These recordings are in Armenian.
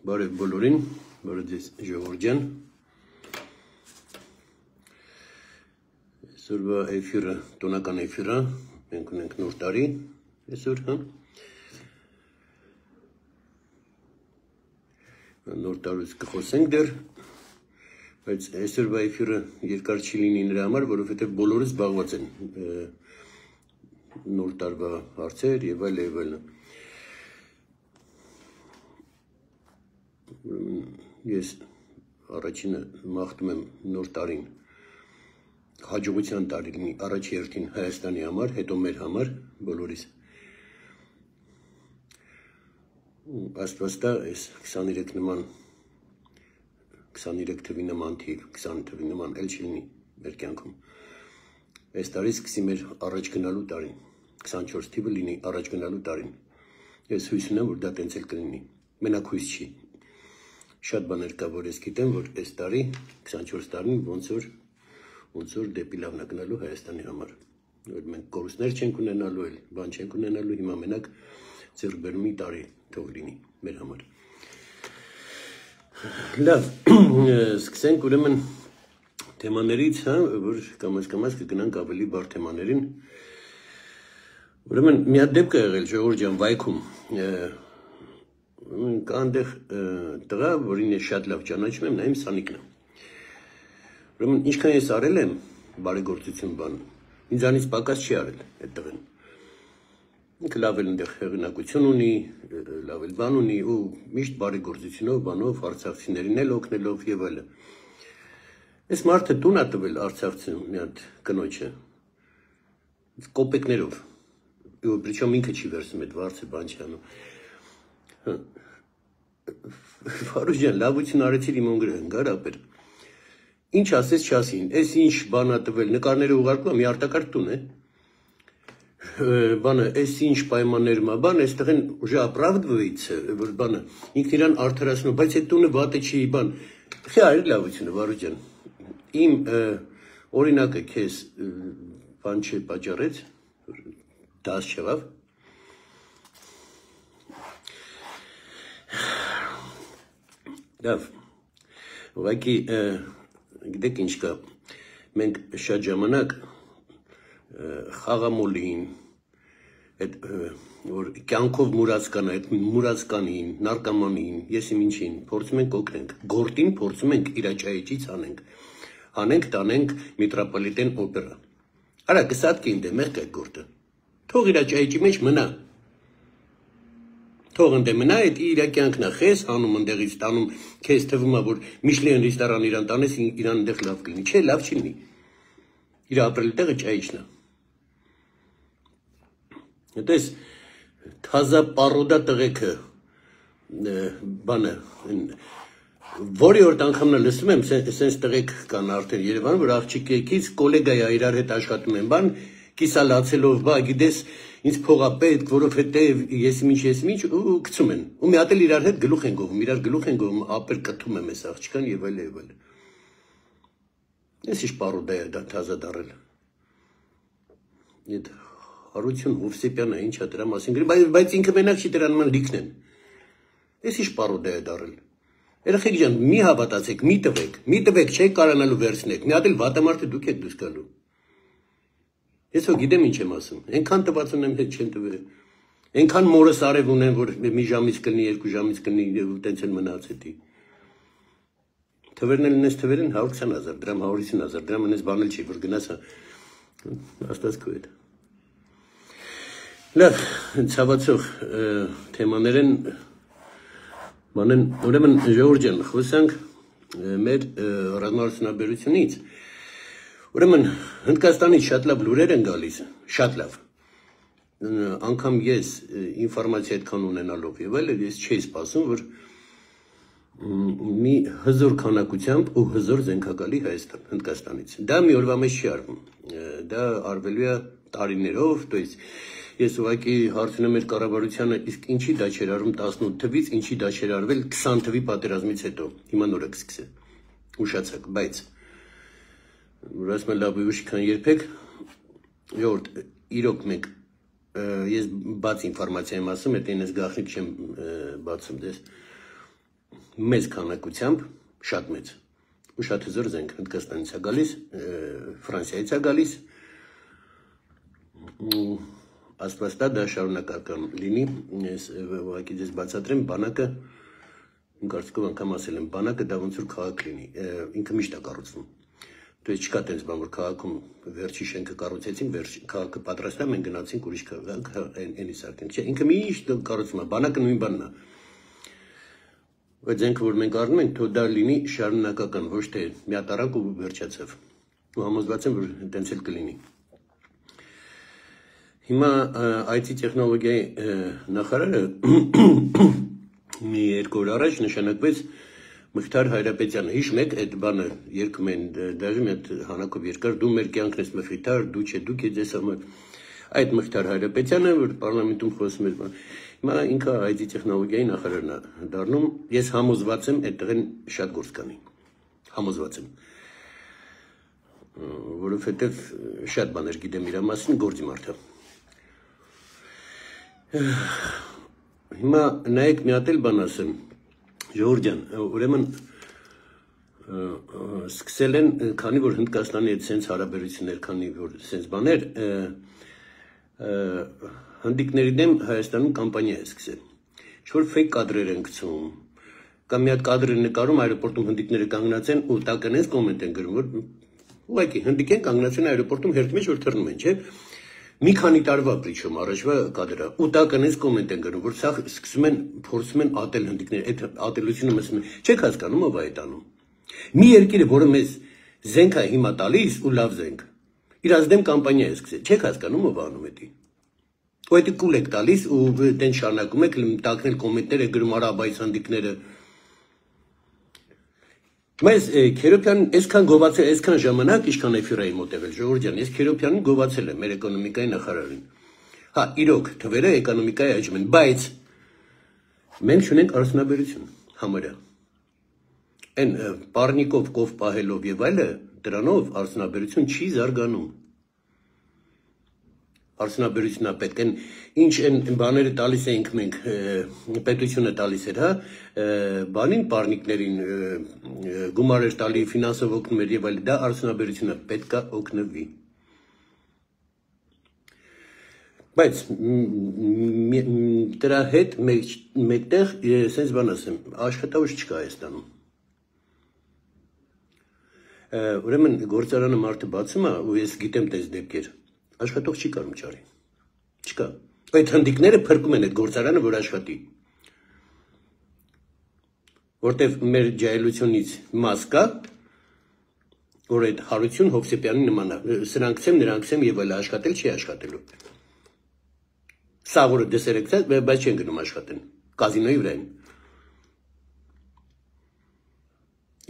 Բարև բոլորին, բարև ձեզ ժողովուրդ։ Այսօրվա էֆիրը, տոնական էֆիրը, մենք ունենք նոր տարի, այսօր, նոր տարուց կխոսենք դեռ, բայց այսօրվա էֆիրը երկար չի լինի նրա համար, որովհետև բոլորը զբաղված են նոր տարվա հարցեր եւ այլն։ Ես առաջինը մաղթում եմ նոր տարին հաջողության տարի լինի առաջ երթին Հայաստանի համար, հետո մեր համար, բոլորիս։ Աստվածտա այս 23 նման 23 թվի նման թիվ, 20 թվի նման էլ չի լինի մեր կյանքում։ Այս տարի սկսի մեր առաջ գնալու տարին, 24 թիվը լինի առաջ գնալու տարին։ Ես հույս ունեմ, որ դա տենց էլ կլինի, մենակ հույս չի։ Շատ բաներ կա, որ ես գիտեմ, որ այս տարի, 24 տարին ոնց որ դեպի լավն է գնալու Հայաստանի համար։ Որ մենք կորուստներ չենք ունենալու, էլ բան չենք ունենալու, հիմա մենակ ձեռքբերումի տարի թող լինի մեր համար։ Լավ, սկսենք ուրեմն թեմաներից, որ կամաց կգնանք ավելի բարդ թեմաներին։ Ուրեմն մի հատ դեպք է եղել ժողովուրդ ջան վայքում։ Կա այնտեղ տղա, որին ես շատ լավ ճանաչում եմ, նա իմ Սանիկն է։ Ուրեմն ինչքան ես արել եմ բարեգործություն բան, ինձանից պակաս չի արել այդ տղեն։ Ինքը լավ էլ այնտեղ հեղինակություն ունի, լավ էլ բան ունի ու միշտ բարեգործությունով, բանով, արցախցիներին էլ օգնելով եւ այլն։ Այս մարդը տուն է տվել Արցախցին մի հատ կնոջը կոպեկներով։ Причем ինքը չի վերցնում այդ վարձը, բան չի անում։ Վարուժ ջան, լավություն արեցիր իմ ունգրեն, գարապեր։ Ինչ ասես չասին, այս ինչ բան է տվել, նկարները ուղարկում, մի արտակարգ տուն է։ Բանը, այս ինչ պայմաններում է, բան, այստեղ են ուժը оправдывается, որ բանը, ինքն իրան արդարացնում, բայց այդ տունը վատը չի, բան։ Խի այր լավությունը, Վարուժ ջան։ Իմ օրինակը քեզ բան չպաճառեց, դաս չեղավ։ Լավ, ուղղակի գիտեք ինչ կա, մենք շատ ժամանակ խաղամոլին, որ կյանքով մուրացկան, այդ մուրացկանին, նարկամանին, ես իմ ինչին, փորձում ենք օգնենք, գործին փորձում ենք իրաճայիչից հանենք, տանենք Միտրոպոլիտեն օպերա։ Արա կսատկի ինձ մեղք այդ գործը, թող իրաճայիչի մեջ մնա։ Թող ընդ մնա, այդ իր կյանքն է, խես հանում ընդեղից տանում, քեզ թվում է, որ Միշլեն ռեստորան իրան տանես, իրան ընդեղ լավ կլինի, չէ, լավ չի լինի։ Իր ապրել տեղը ճայիչն է։ Դες թազա պարոդա տղեկը բանը որի օր անգամն լսում եմ, սենց տղեկ կան արդեն Երևանում, որ աղջիկից կոլեգա է իրար հետ աշխատում են, բան կիսալացելով, բա գիտես ինձ փողա պետք, որովհետև ես ինչ ու գցում են։ Ու մի հատ էլ իրար հետ գլուխ են գովում, իրար գլուխ են գովում, ապեր կթում եմ այս աղջկան եւ այլ։ Ես ինչ պարոդա է դա թազա դարել։ Այդ Հարություն Հովսեփյանը ինչա դրա մասին գրի, բայց ինքը մենակ չի դրան ման լիքն են։ Ես ինչ պարոդա է դարել։ Երեխեք ջան, մի հավատացեք, մի տվեք, չեք կարանալու վերցնեք։ Մի հատ էլ վատամարտը դուք եք դուրս գալու։ Ես հո գիտեմ ինչ եմ ասում։ Այնքան տված ունեմ հետ չեն տվել։ Այնքան մորս արև ունեն, որ մի ժամից կլինի, 2 ժամից կլինի, տենց են մնաց էդի։ Թվերն էլ ունես թվեր են 120,000 դրամ, 150,000 դրամ ունես բան էլ չի, որ գնաս աստված քո հետ։ Լավ, ցավացող թեմաներ են մանեն, ուրեմն ժողովուրդ ջան, խոսանք մեր ռազմարտունաբերությունից։ Ուրեմն Հնդկաստանից շատ լավ լուրեր են գալիս, շատ լավ։ Անգամ ես ինֆորմացիա այդքան ունենալով եւ այլն ես չէի սպասում, որ մի հզոր քանակությամբ ու հզոր զենքակալի Հայաստան, Հնդկաստանից։ Դա մի օրվա մեջ չի արվում։ Դա արվելու է տարիներով, то есть ես ուղղակի հարցնում եմ մեր կառավարությանը, իսկ ինչի դա չէր արվում 18 թվից, ինչի դա չէր արվել 20 թվի պատերազմից հետո։ Հիմա նորը կսկսե։ Ուշացեք, բայց որ ասում եմ լավ ուշ քան երբեք, ժողովուրդ, իրոք մենք ես բաց ինֆորմացիա եմ ասում, այդ այնպես գաղտնիք չեմ բացում դες։ մեծ քանակությամբ, շատ մեծ, ու շատ հզոր զենք Հնդկաստանից է գալիս, Ֆրանսիայից է գալիս, աստվածտա դա շարունակական լինի, ես ուղղակի ձեզ բացատրեմ, բանակը, իմ կարծիքով անգամ ասել եմ, բանակը դա ոնց որ քաղաք լինի, ինքը միշտ է կառուցվում։ Դու չկա տենց բան, որ քաղաքում վերջի շենքը կառուցեցին, քաղաքը պատրաստ է, մենք գնացինք ուրիշ քաղաք, այնի սարքենք, չէ, ինքը միշտ կառուցվում է, բանակը նույն բանն է։ Այդ զենքը, որ մենք առնում ենք, թող դա լինի շարունակական, ոչ թե միատարակ ու վերջացավ։ Ու համոզված եմ, որ տենց էլ կլինի։ Հիմա IT տեխնոլոգիայի նախարարը մի 2 օր առաջ նշանակվեց Մխիթար Հայրապետյանը, հիշում եք այդ բանը երգում են, դաժե մի հատ հանակով երկար, դու մեր կյանքն ես Մխիթար, դու չէ, դուք ես համար, այդ Մխիթար Հայրապետյանը, որ պարլամենտում խոսում էր, հիմա ինքը IT տեխնոլոգիայի նախարարն է դառնում, ես համոզված եմ այդտեղ շատ գործ կանի, համոզված եմ, որովհետև շատ բաներ գիտեմ իր մասին, գործի մարդ է։ Հիմա նայեք մի հատ էլ բան ասեմ, Ժողովուրդ ջան, ուրեմն սկսել են, քանի որ Հնդկաստանի հետ սենց հարաբերություններ, քանի որ սենց բաներ, հնդիկների դեմ Հայաստանում կամպանիա է սկսել։ Ինչ-որ ֆեյք կադրեր են գցում, կամ մի հատ կադր են նկարում, այրոպորտում հնդիկները կանգնած են, ու տակնես կոմենտ են գրում, որ ուղղակի հնդիկ են կանգնած են այրոպորտում հերթի մեջ, որ թռնում են, չէ։ Մի քանի տարվա պրիչում առաջվա կադրը, ու տակնես կոմենտ են գրում, որ սա սկսում են, փորձում են ատել հնդիկները, այդ ատելությունը մսում են, չեք հասկանում ով է այդ անում։ Մի երկիրը, որը մեզ զենք է հիմա տալիս ու լավ զենք, իր ազդեմ կամպանիա է սկսել, չեք հասկանում ով անում էդի։ Ու այդ կուլ եք տալիս ու տենց շարունակում եք տակնել կոմենտներ եք գրում արա բայց հնդիկները։ Մեզ Քերոբյան այսքան գովացել, այսքան ժամանակ ինչքան էֆիրայի մոտեղել, Ժողովուրդ ջան, ես Քերոբյանին գովացել եմ մեր էկոնոմիկայի նախարարին։ Հա, իրոք, թվերը էկոնոմիկայի աճում են, բայց մենք չունենք արդյունաբերություն համարյա։ Այն պառնիկով կով պահելով եւ այլը, դրանով արդյունաբերություն չի զարգանում։ Արդյունաբերությունն է պետք, այն ինչ են բաները տալիս էինք մենք, պետությունը տալիս էր, հա, բանին պառնիկներին գումար էր տալի, ֆինանսով օգնում էր եւ այլն, դա արդյունաբերությունը պետք է օգնվի։ Բայց դրա հետ մեկտեղ sense բան ասեմ, աշխատավարձ չկա Հայաստանում։ Ուրեմն գործարանը մարդը բացում է ու ես գիտեմ տես դեպքեր, աշխատող չի կարող չարի։ Չկա։ Այդ հնդիկները փրկում են այդ գործարանը, որ աշխատի։ Որտեվ մեր ջահելությունից մաս կա, որ այդ Հարություն Հովսեփյանի նման է, սրանք եմ եւ այլ աշխատել չի աշխատելու։ Սա որը դեսերեկցած, բայց չեն գնում աշխատեն, կազինոյի վրա են։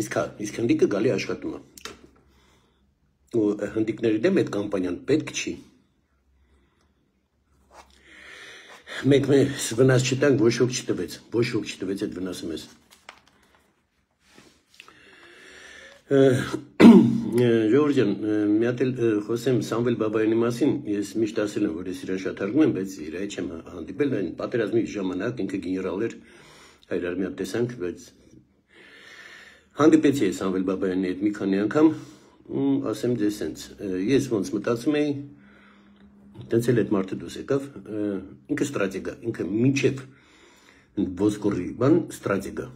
Իսկ հնդիկը գալի աշխատում է։ Ու հնդիկների դեմ այդ կամպանիան պետք չի։ Մենք վնաս չտանք, ոչ ոք չտվեց այդ վնասը մեզ։ Ժողովուրդ ջան, մի հատ էլ խոսեմ Սամվել Բաբայանի մասին, ես միշտ ասել եմ, որ ես իրան շատ հարգում եմ, բայց իր հետ չեմ հանդիպել, այն պատերազմի ժամանակ ինքը գեներալ էր, հայրար մի հատ տեսանք, բայց հանդիպեցի ես Սամվել Բաբայանի հետ մի քանի անգամ, ասեմ ձեզ սենց, ես ոնց մտածում էի, տենց էլ այդ մարդը դուրս եկավ, ինքը ստրատեգ է, ինքը մինչև ոսկորի բան ստրատեգ է։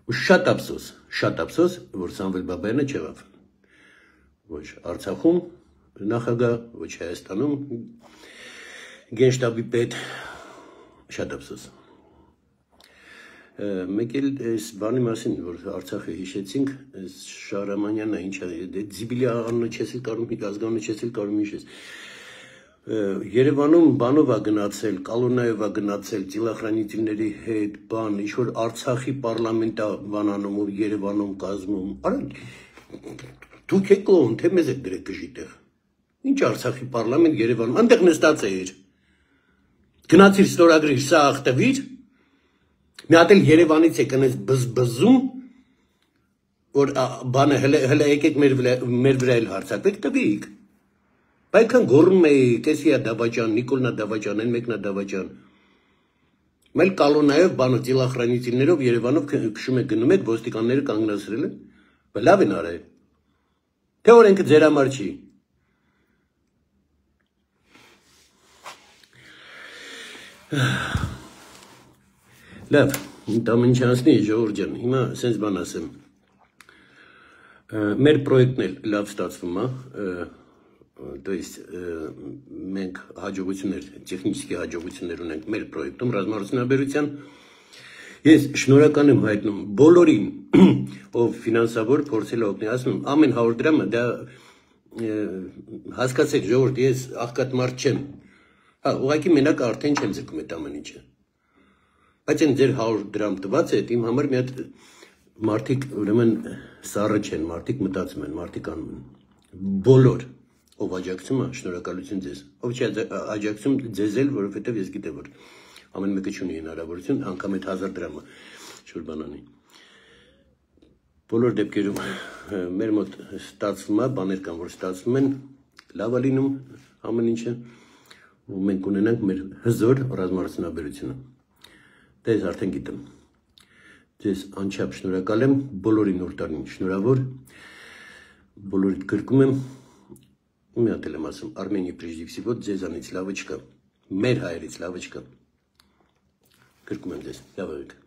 Ու շատ ափսոս, որ Սամվել Բաբայանը չեղավ։ Ոչ Արցախում նախագահ, ոչ Հայաստանում գենշտաբի պետ, շատ ափսոս։ Մեկ էլ այս բանի մասին, որ Արցախը հիշեցինք, Շահրամանյանն է, ինչ է, Ձիբիլի անունը չես էլ կարող, ազգանունը չես էլ կարող հիշես։ Երևանում բանով է գնացել, Կալոնայով է գնացել, ծիլախրանիտիների հետ, բան, ինչ-որ Արցախի պարլամենտ է բանանում ու Երևանում կազմում, արա, դուք եք կողմ, թե մեզ եք դրեք գժի տեղ, ինչ Արցախի պարլամենտ Երևանում, անտեղ նստած էիր, գնացիր ստորագրիր, սա աղտվիր, մի հատ էլ Երևանից եք անես բզբզում, որ բանը հլը եկեք մեր վրա էլ հարցակվեք, տվիք, Բայքան գոռում էի, կեսիա Դավաճան, Նիկոլնա Դավաճան, այն մեկնա Դավաճան։ Meil կալոնայով բանը տիլախրանիտիներով Երևանով քշում եք գնում եք ոստիկանները կանգնացրել են։ Լավ են արել։ Թե օրենքը ձեր համար չի։ Լավ, ամեն ինչ անցնի ժողովուրդ ջան։ Հիմա sense բան ասեմ։ Մեր պրոյեկտն էլ լավ ստացվում է, то есть մենք հաջողություններ, տեխնիկի հաջողություններ ունենք մեր պրոյեկտում ռազմարդյունաբերության։ Ես շնորհակալ եմ հայտնում բոլորին, ով ֆինանսավոր փորձել է օգնել, ասում եմ, ամեն 100 դրամը դա հասկացեք ժողովուրդ, ես աղքատ մարդ չեմ։ Հա, ուղղակի մենակ արդեն չեմ ձգում այդ ամեն ինչը։ Բայց այն ձեր 100 դրամ տված է, իմ համար մի հատ մարդիկ ուրեմն սառը չեն, մարդիկ մտածում են, մարդիկ անում են։ Բոլոր ով աջակցում է, շնորհակալություն ձեզ։ Ով չի աջակցում ձեզ էլ, որովհետև ես գիտեմ, որ ամեն մեկը չունի հնարավորություն, անգամ այդ 1000 դրամը շուտ բանանի։ Բոլոր դեպքերում մեր մոտ ստացվում է, բաներ կան, որ ստացվում են, լավ է լինում ամեն ինչը, ու մենք ունենանք մեր հզոր ռազմարդյունաբերությունը։ Դա ես արդեն գիտեմ։ Ձեզ անչափ շնորհակալ եմ, բոլորին նոր տարին շնորհավոր, բոլորիդ գրկում եմ, մի հատ էլ եմ ասում, Արմենիա прежде всего ձեզանից լավը չկա, մեր հայերից լավը չկա, գրկում եմ ձեզ, լավ եղեք։